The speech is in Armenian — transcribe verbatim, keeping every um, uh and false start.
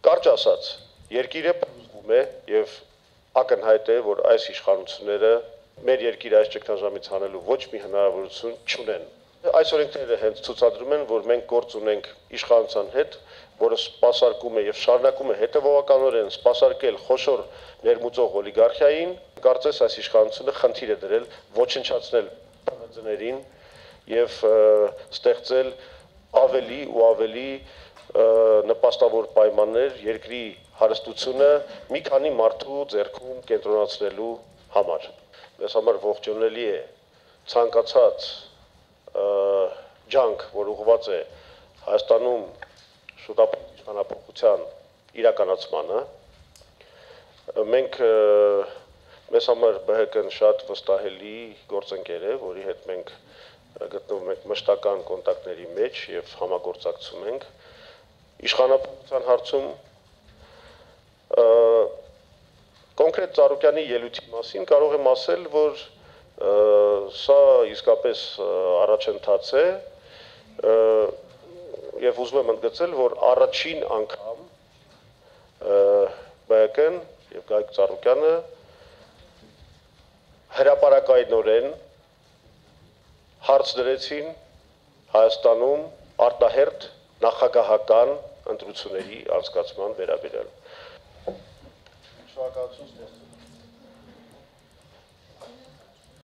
Կարճ ասած, երկիրը փոխվում է եւ ակնհայտ է, որ այս իշխանությունները մեր երկիրը այս ճգնաժամից հանելու ոչ մի հնարավորություն չունեն։ Այս օրենքները հենց ցուցադրում են, որ մենք գործ ունենք իշխանության հետ, որը սպասարկում է եւ շարունակում է հետեւողականորեն սպասարկել խոշոր ներմուծող օլիգարխիային, կարծես այս իշխանությունը խնդիր է դրել ոչնչացնել բնակիչներին եւ ստեղծել ավելի ու ավելի նպաստավոր պայմաններ երկրի հարստությունը մի քանի մարդու ձեռքում կենտրոնացնելու համար։ Մեզ համար ողջունելի է ցանկացած ջանք, որ ուղղված է Հայաստանում շուտապույտ իշխանափոխության իրականացմանը, մենք մեզ համար B H K-ն շատ վստահելի գործընկեր է, որի հետ մենք գտնվում ենք մշտական կոնտակտների մեջ եւ համագործակցում ենք իշխանափոխության հարցում կոնկրետ Ծառուկյանի ելույթի մասին կարող եմ ասել, որ սա իսկապես առաջընթաց է եւ ուզում եմ ընդգծել, որ առաջին անգամ B H K-ն եւ Գայք Ծառուկյանը հրապարակայնորեն հարց դրեցին Հայաստանում արտահերթ նախագահական ընտրությունների անցկացման վերաբերյալ։ Շնորհակալություն։